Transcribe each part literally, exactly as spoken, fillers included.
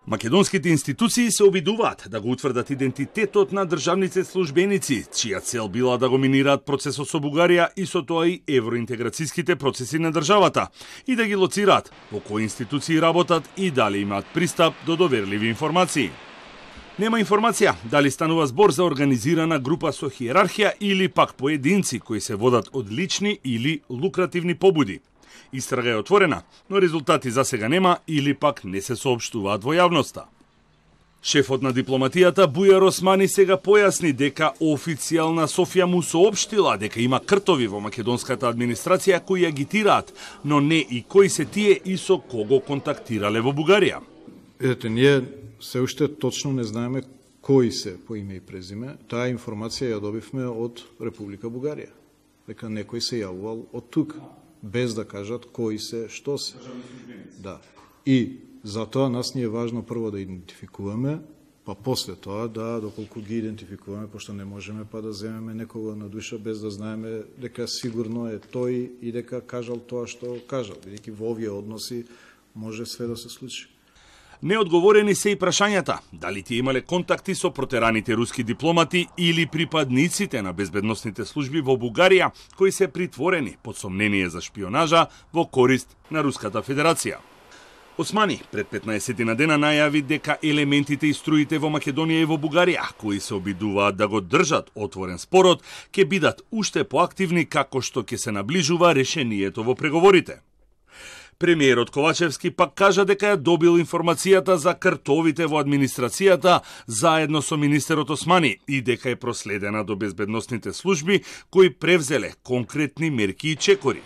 Македонските институции се обидуваат да го утврдат идентитетот на државните службеници, чија цел била да го минираат процесот со Бугарија и со тоа и евроинтеграцијските процеси на државата и да ги лоцираат по кои институции работат и дали имаат пристап до доверливи информации. Нема информација дали станува збор за организирана група со хиерархија или пак поединци кои се водат од лични или лукративни побуди. Истрага е отворена, но резултати за сега нема или пак не се соопштуваат во јавноста. Шефот на дипломатијата Бујар Османи сега појасни дека официјална Софија му соопштила дека има кртови во македонската администрација кои агитираат, но не и кои се тие и со кого контактирале во Бугарија. Видете, ние се уште точно не знаеме кои се по име и презиме. Таа информација ја добивме од Република Бугарија. Дека некој се јавувал од тука, без да кажат кои се, што се. Да. И затоа нас ни е важно прво да идентификуваме, па после тоа да, доколку ги идентификуваме, пошто не можеме па да земеме некого на душа без да знаеме дека сигурно е тој и дека кажал тоа што кажал, бидејќи во овие односи може све да се случи. Неодговорени се и прашањата дали тие имале контакти со протераните руски дипломати или припадниците на безбедносните служби во Бугарија кои се притворени под сомнение за шпионажа во корист на Руската Федерација. Османи пред петнаесет на дена најави дека елементите и струите во Македонија и во Бугарија кои се обидуваат да го држат отворен спорот ќе бидат уште поактивни како што ќе се наближува решението во преговорите. Премиерот Ковачевски пак кажа дека ја добил информацијата за кртовите во администрацијата заедно со министерот Османи и дека е проследена до безбедносните служби кои превзеле конкретни мерки и чекори.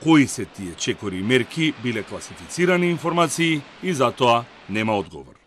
Кои се тие чекори и мерки биле класифицирани информации и затоа нема одговор.